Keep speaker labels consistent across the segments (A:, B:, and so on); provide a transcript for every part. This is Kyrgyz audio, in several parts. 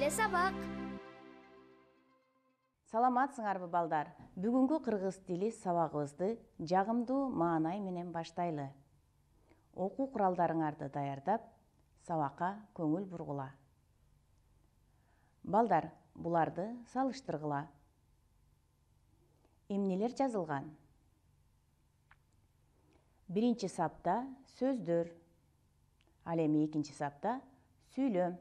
A: Келе сабак.
B: Саламатсыңарбы балдар? Бүгүнкү кыргыз тили сабагыбызды жагымдуу маанай менен баштайлы. Окуу куралдарыңарды даярдап, сабакка көңүл бургула. Балдар, буларды салыштыргыла. Эмнелер жазылган? Биринчи сапта сөздөр, ал эми экинчи сапта сүйлөм.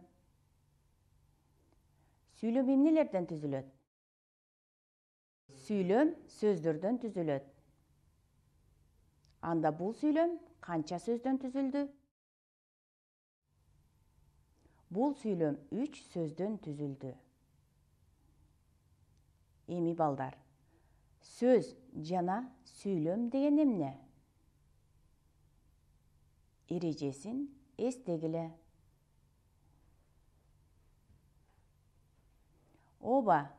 B: Сүйлөм эмнелерден түзүлөт? Сүйлөм сөздөрдөн түзүлөт. Анда бул сүйлөм канча сөздөн түзүлдү? Бул сүйлөм 3 сөздөн түзүлдү. Эми балдар, сөз жана сүйлөм деген эмне? Эрежесин эстегиле. Ооба,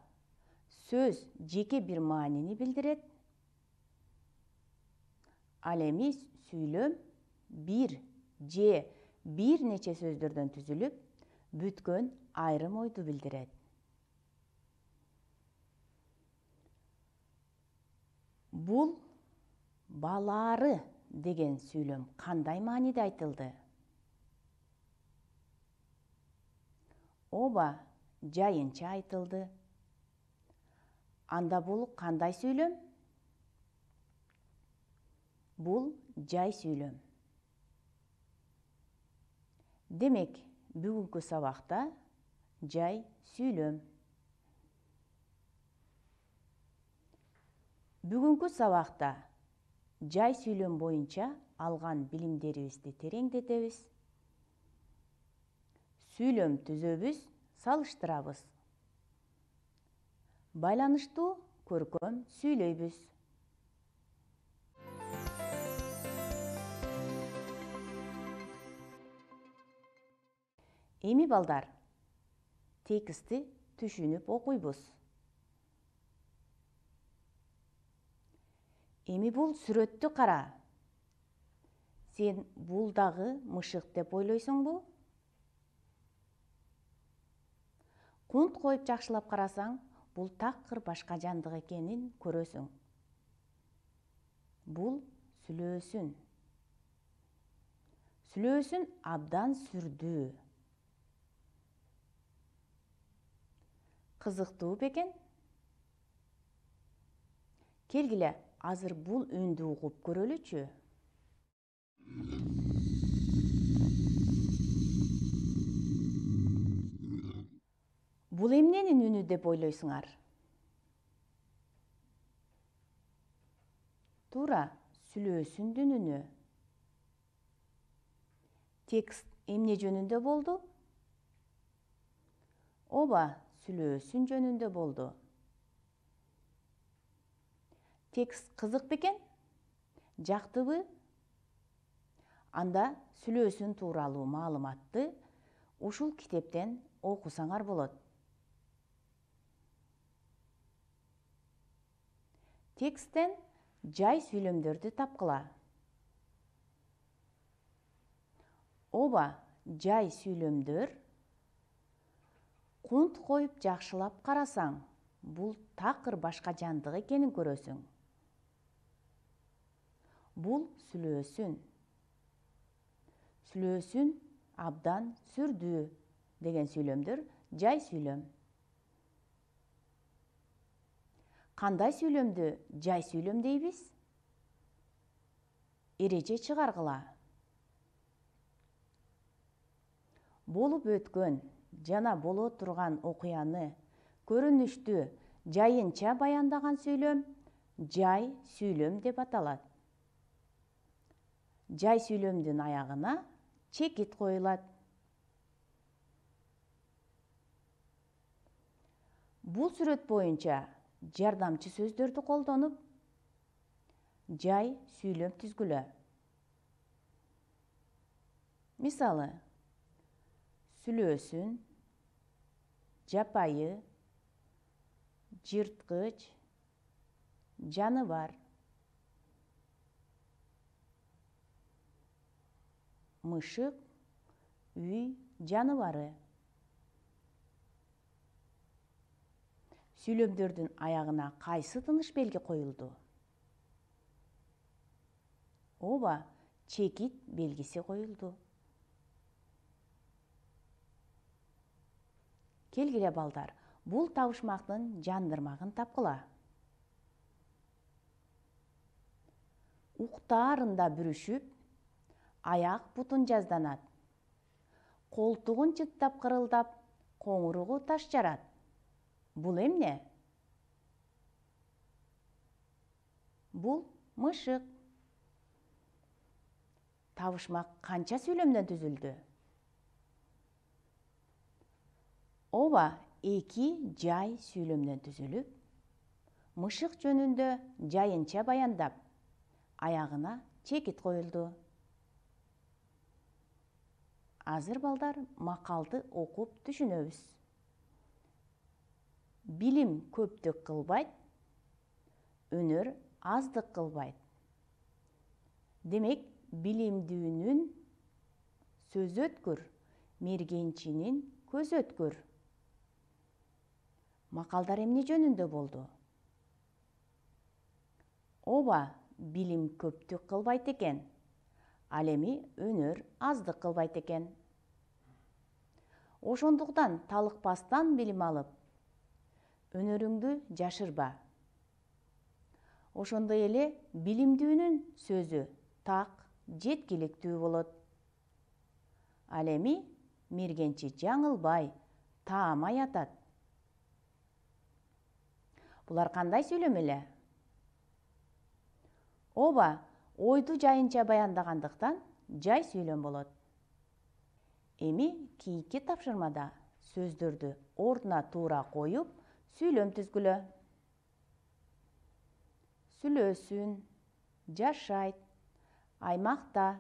B: сөз жеке бир маанини билдирет. Ал эми сүйлөм бир же бир нече сөздөрдөн түзүлүп, бүткөн айрым ойду билдирет. Бул балаары деген сүйлөм кандай мааниде айтылды? Ооба, жайынча айтылды. Анда бул кандай сүйлөм? Бул жай сүйлөм. Демек, бүгүнкү сабакта жай сүйлөм. Бүгүнкү сабакта жай сүйлөм боюнча алган билимдерибизди тереңдетебиз. Сүйлөм түзөбүз, салыштырабыз. Байланыштуу көркөм сүйлөйбүз. Эми балдар, текстти түшүнүп окуйбуз. Эми бул сүрөттү кара. Сен бул дагы мышык деп ойлойсуңбу? Кунт коюп жакшылап карасаң, бул такыр башка жандык экенин көрөсүң. Бул сүлөөсүн. Сүлөөсүн абдан сүрдүү. Кызыктуу бекен? Келгиле, азыр бул үндү угуп көрөлүчү. Бул эмненин үнү деп ойлойсуңар? Туура, сүлөөсүндүн үнү. Текст эмне жөнүндө болду? Ооба, сүлөөсүн жөнүндө болду. Текст кызык бекен? Жактыбы? Анда сүлөөсүн тууралуу маалыматты ушул китептен окусаңар болот. Тексттен жай сүйлөмдөрдү тапкыла. Ооба, жай сүйлөмдөр. Кунт коюп жакшылап карасаң, бул такыр башка жандык экенин көрөсүң. Бул сүлөөсүн. Сүлөөсүн абдан сүрдүү деген сүйлөмдөр жай сүйлөм. Кандай сүйлөмдү жай сүйлөм дейбиз? Эреже чыгаргыла. Болуп өткөн жана боло турган окуяны көрүнүштүү жайынча баяндаган сүйлөм жай сүйлөм деп аталат. Жай сүйлөмдүн аягына чекит коюлат. Бул сүрөт боюнча жардамчы сөздөрдү колдонуп, жай сүйлөм түзгүлө. Мисалы, сүлөөсүн, жапайы, жырткыч, жаныбар. Мышык, үй жаныбары. сүйлөмдөрдүн аягына кайсы тыныш белги коюлду? Ооба, чекит белгиси коюлду. Келгиле балдар, бул табышмактын жандырмагын тапкыла. Уктаарында бүрүшүп, аяк бутун жазданат. Колтугун чыттап кырылдап, коңуругу таш жарат. Бул эмне? Бул мышык. Табышмак канча сүйлөмдөн түзүлдү? Ооба, 2 жай сүйлөмдөн түзүлүп, мышык жөнүндө жайынча баяндап, аягына чекит коюлду. Азыр балдар макалды окуп түшүнөбүз. Билим көптүк кылбайт, өнөр аздык кылбайт. Демек, билимдүүнүн сөз өткүр, мергенчинин көз өткүр. Макалдар эмне жөнүндө болду? Ооба, билим көптүк кылбайт экен, ал эми өнөр аздык кылбайт экен. Ошондуктан талыкпастан билим алып, өнөрүңдү жашырба. Ошондой эле билимдүүнүн сөзү так, жеткиликтүү болот. Ал эми мергенчи жаңылбай, таамай атат. Булар кандай сүйлөм эле? Ооба, ойду жайынча баяндагандыктан жай сүйлөм болот. Эми кийинки тапшырмада сөздөрдү ордуна туура коюп, сүйлөм түзгүлө. Сүлөөсүн, жашайт, аймакта,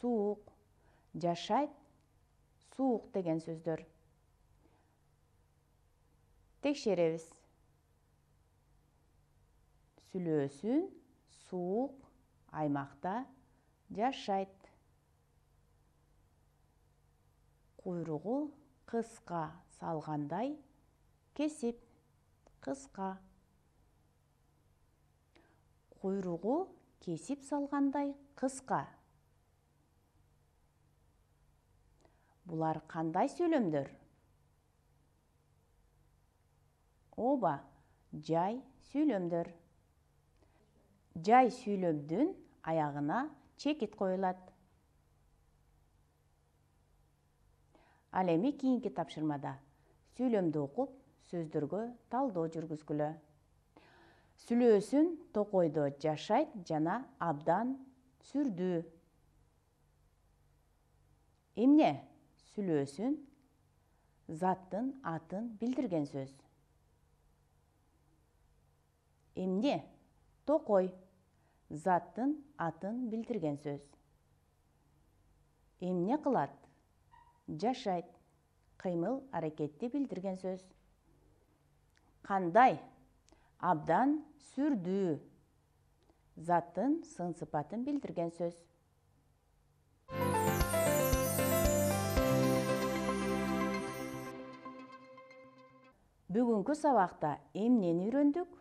B: суук, жашайт, суук деген сөздөр. Текшеребиз. Сүлөөсүн, суук, аймакта, жашайт. Куйругу кыска салгандай, кесип, кыска. Куйругу кесип салгандай кыска. Булар кандай сүйлөмдөр? Ооба, жай сүйлөмдөр. Жай сүйлөмдүн аягына чекит коюлат. Ал эми кийинки тапшырмада сүйлөмдү окуп, сөздөргө талдоо жүргүзгүлө. Сүлөөсүн токойдо жашайт жана абдан сүрдүү. Эмне? Сүлөөсүн заттын атын билдирген сөз. Эмне? Токой заттын атын билдирген сөз. Эмне кылат? Жашайт кыймыл аракетти билдирген сөз. Кандай? Абдан сүрдүү заттын сын сыпатын билдирген сөз. Бүгүнкү сабакта эмнени үйрөндүк?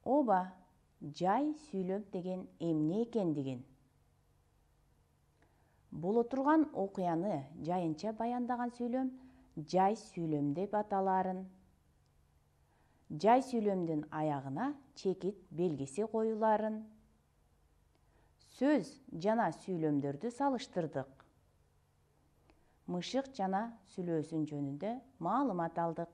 B: Ооба, жай сүйлөм деген эмне экендигин. Боло турган окуяны жайынча баяндаган сүйлөм жай сүйлөм деп аталаарын. Жай сүйлөмдүн аягына чекит белгиси коюлаарын. Сөз жана сүйлөмдөрдү салыштырдык. Мышык жана сүлөөсүн жөнүндө маалымат алдык.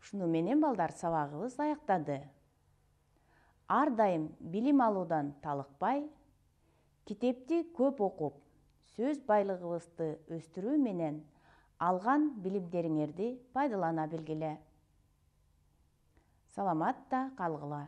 B: Ушуну менен балдар сабагыбыз аяктады. Ар дайым билим алуудан талыкпай, китепти көп окуп, сөз байлыгыбызды өстүрүү менен алган билимдериңерди пайдалана билгиле. Саламатта калгыла.